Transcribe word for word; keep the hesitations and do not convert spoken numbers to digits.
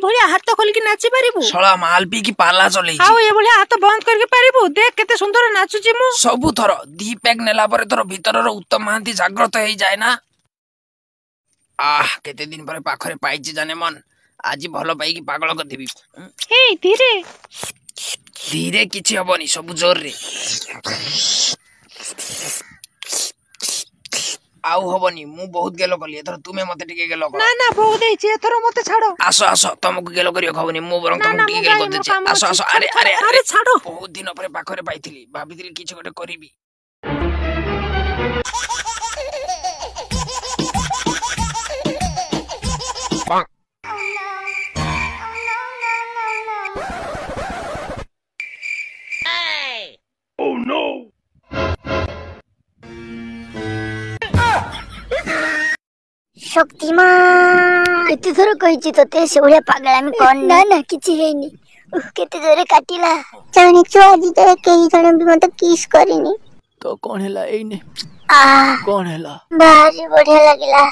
ଏଇଭଳିଆ ହାତ ଖୋଲିକି ନାଚି ପାରିବୁ? ଶଳା ମାଲ ପିଇକି ପାଲା ଚଲେଇଛି। ଆଉ ଏଭଳିଆ ହାତ ବନ୍ଦ କରିକି ପାରିବୁ? ଦେଖ କେତେ ସୁନ୍ଦର ନାଚୁଛି ମୁଁ। ସବୁଥର ଦି ପ୍ୟାକ୍ ନେଲା ପରେ ତୋର ଭିତରର ଉତ୍ତମ ମହାନ୍ତି ଜାଗ୍ରତ ହେଇଯାଏ ନା? ଆহ, କେତେ ଦିନ ପରେ ପାଖରେ ପାଇଛି ଜାନେ ମନ, ଆଜି ଭଲ ପାଇକି ପାଗଳ କରିଦେବି। ହେଇ ଧୀରେ ଧୀରେ କିଛି ହବନି, ସବୁ ଜୋରରେ। ଆଉ ହବନି, ମୁଁ ବହୁତ ଗେଲ କଲି, ଏଥର ତୁମେ ମତେ ଟିକେ ଗେଲ କର। ନା ନା, ବହୁତ ହେଇଛି, ଏଥର ମତେ ଛାଡ। ଆସ ଆସ, ତମକୁ ଗେଲ କରିବାକୁ ହବନି, ମୁଁ ବରଂ ନା ତମକୁ ନା, ଟିକେ ମୁଁ ଗେଲ ଯାଏ, ମୋର କରିଦେଉଛି। କାମ ଆସ ଅଛି। ଆସ। ଆରେ ଆରେ ଆରେ ଆରେ, ଛାଡ। ବହୁତ ଦିନ ପରେ ପାଖରେ ପାଇଥିଲି, ଭାବିଥିଲି କିଛି ଗୋଟେ କରିବି। ଶକ୍ତିମାନ, କେତେ ଥର କହିଛି ତତେ ସେଭଳିଆ ପାଗଳାମି କରନି। ନା ନା, କିଛି ହେଇନି। ଉଃ, କେତେ ଜୋରେ କାଟିଲା। ଜାଣିଛୁ, ଆଜି ଯାଏ କେହି ଜଣେ ବି ମତେ କିସ୍ କରିନି। ତ କଣ ହେଲା? ଏଇନେ ଆহ, କଣ ହେଲା? ଭାରି ବଢିଆ ଲାଗିଲା।